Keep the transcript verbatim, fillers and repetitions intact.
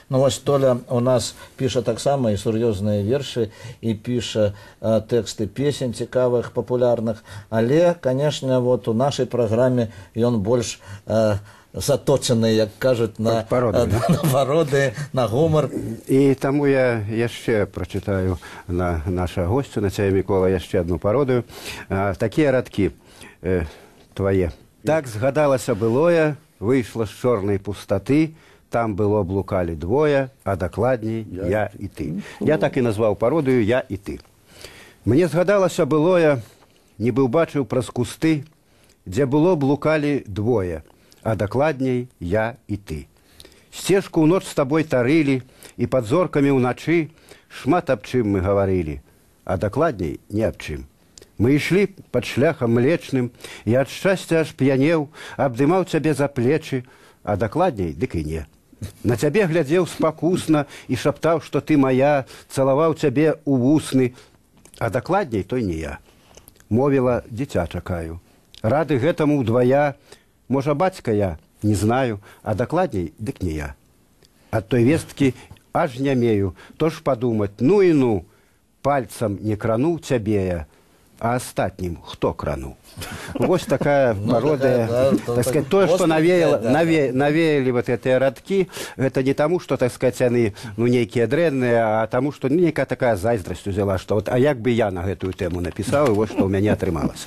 Ну вось Толя у нас піша таксама і сур'ёзныя вершы, і піша э, тэксты песень цікавых, папулярных, але, канешне, вот у нашай праграме ён больш э, заточаны, як кажуць, на пароды, э, на пароды, на гумар. І таму я яшчэ прачытаю на наша госцю, на цябе, Мікола, яшчэ одну пародыю. А, такія радкі э, твае. Так згадалася былое, выйшла з чорнай пустаты, там было блукалі двое, а дакладней я, я і ты. Я так і назваў пародыю «Я і ты». Мне згадалася былое, нібы ўбачыў праз кусты, дзе было блукалі двое, а дакладней я і ты. Сцежку ў ноч з табой тарылі, і пад зоркамі ўначы шмат аб чым мы гаварылі, а дакладней не аб чым. Мы ішлі пад шляхам млечным, і ад шчасця аж п'янеў, абдымаў цябе за плечы, а дакладней дык і не. На цябе глядзеў спакусна і шаптаў, што ты моя, цалаваў цябе ў вусны, а дакладней той не я. Мовіла, дзіця чакаю. Рады гэтаму ўдвая, можа, бацька я, не знаю, а дакладней дык не я. Ад той весткі аж нямею, то ж падумаць, ну і ну, пальцам не крануў цябе я, а астатнім хто крануў? Вось такая пародыя, так сказать, тое, што навеялі вот гэтыя радкі, гэта не таму, што, так сказать, яны нейкія дрэнныя, а таму, што нейкая такая зайздрасць узяла, што а як бы я на гэтую тэму напісаў, і вось што ў мяне атрымалася.